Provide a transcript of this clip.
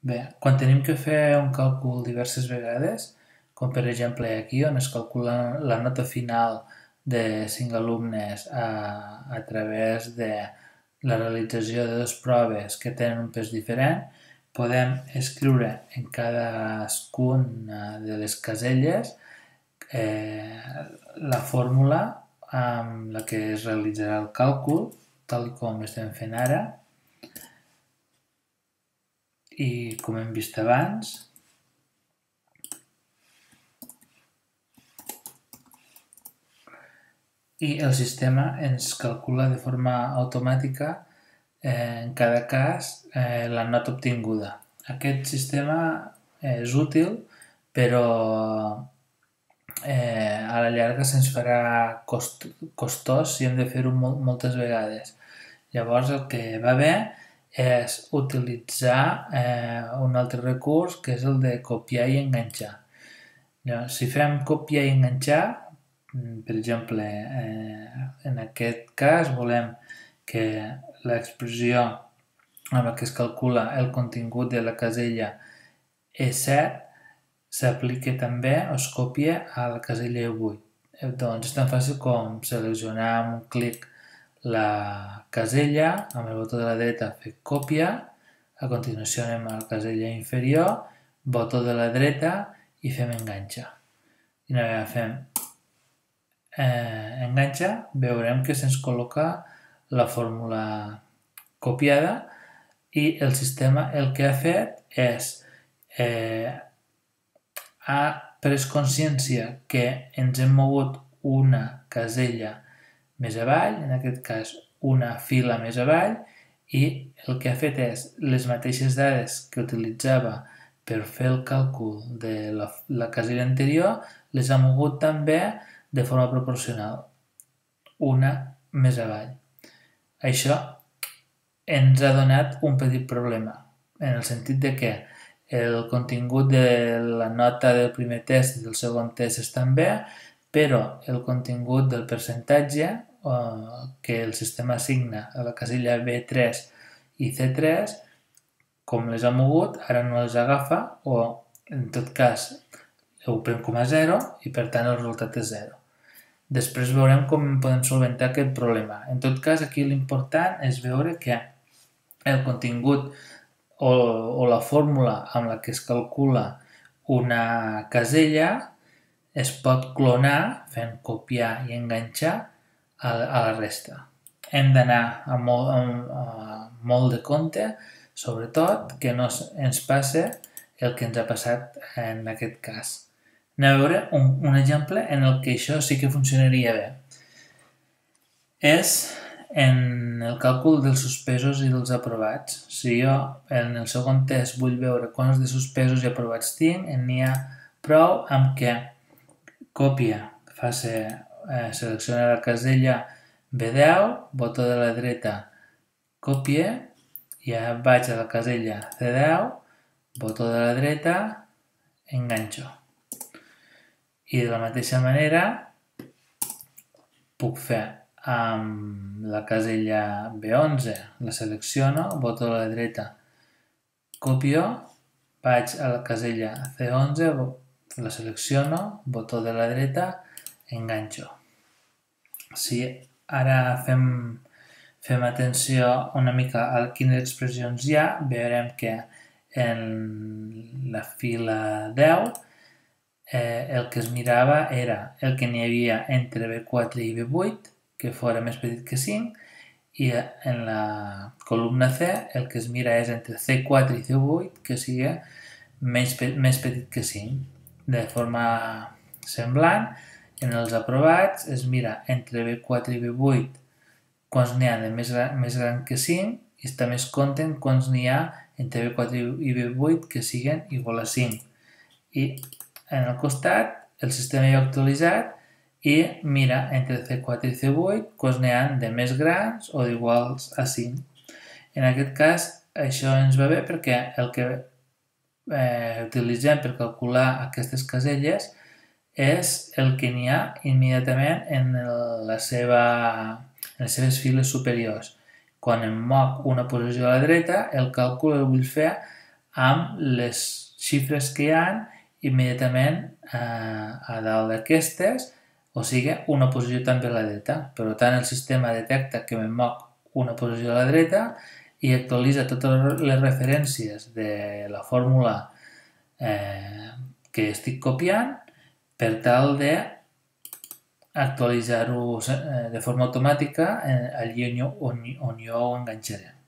Bé, quan tenim que fer un càlcul diverses vegades, com per exemple aquí on es calcula la nota final de 5 alumnes a través de la realització de dues proves que tenen un pes diferent, podem escriure en cadascuna de les caselles la fórmula amb la que es realitzarà el càlcul, tal com estem fent ara, i com hem vist abans, i el sistema ens calcula de forma automàtica en cada cas la nota obtinguda. Aquest sistema és útil, però a la llarga se'ns farà costós si hem de fer-ho moltes vegades. Llavors el que va bé és utilitzar un altre recurs que és el de copiar i enganxar. Si fem copiar i enganxar, per exemple, en aquest cas volem que l'expressió amb la que es calcula el contingut de la casella E7 s'aplica també o es copia a la casella E8. Doncs és tan fàcil com seleccionar amb un clic la casella, amb el botó de la dreta fer còpia, a continuació anem a la casella inferior, botó de la dreta i fem enganxa. I una vegada fem enganxa, veurem que se'ns col·loca la fórmula copiada i el sistema el que ha fet és ha pres consciència que ens hem mogut una casella més avall, en aquest cas una fila més avall, i el que ha fet és les mateixes dades que utilitzava per fer el càlcul de la casella anterior, les ha mogut també de forma proporcional, una més avall. Això ens ha donat un petit problema, en el sentit de que el contingut de la nota del primer test i del segon test estan bé, però el contingut del percentatge que el sistema assigna a la casella B3 i C3, com les ha mogut, ara no les agafa o, en tot cas, ho pren com a 0 i per tant el resultat és 0. Després veurem com podem solventar aquest problema. En tot cas, aquí l'important és veure que el contingut o la fórmula amb la que es calcula una casella es pot clonar fent copiar i enganxar a la resta. Hem d'anar amb molt de compte, sobretot que no ens passe el que ens ha passat en aquest cas. Anem a veure un exemple en el que això sí que funcionaria bé. És en el càlcul dels suspesos i dels aprovats. Si jo en el segon test vull veure quants de suspesos i aprovats tinc, n'hi ha prou amb que còpia, selecciona la casella B10, botó de la dreta, còpia, i ja vaig a la casella C10, botó de la dreta, enganxo. I de la mateixa manera puc fer amb la casella B11, la selecciono, botó de la dreta, copio, vaig a la casella C11, la selecciono, botó de la dreta, enganxo. Si ara fem atenció una mica a quines expressions hi ha, veurem que en la fila 10 el que es mirava era el que n'hi havia entre B4 i B8, que fora més petit que 5, i en la columna C el que es mira és entre C4 i C8, que sigui més petit que 5. De forma semblant, en els aprovats es mira entre B4 i B8 quants n'hi ha de més gran que 5 i també es compten quants n'hi ha entre B4 i B8 que siguin igual a 5. I en el costat el sistema ja ha actualitzat i mira entre C4 i C8 quants n'hi ha de més grans o d'iguals a 5. En aquest cas això ens va bé perquè el que utilitzem per calcular aquestes caselles és el que n'hi ha immediatament en les seves files superiors. Quan em moc una posició a la dreta, el càlcul el vull fer amb les xifres que hi ha immediatament a dalt d'aquestes, o sigui, una posició també a la dreta. Per tant, el sistema detecta que me'n moc una posició a la dreta i actualitza totes les referències de la fórmula que estic copiant per tal de actualitzar-ho de forma automàtica allí on jo ho enganxaré.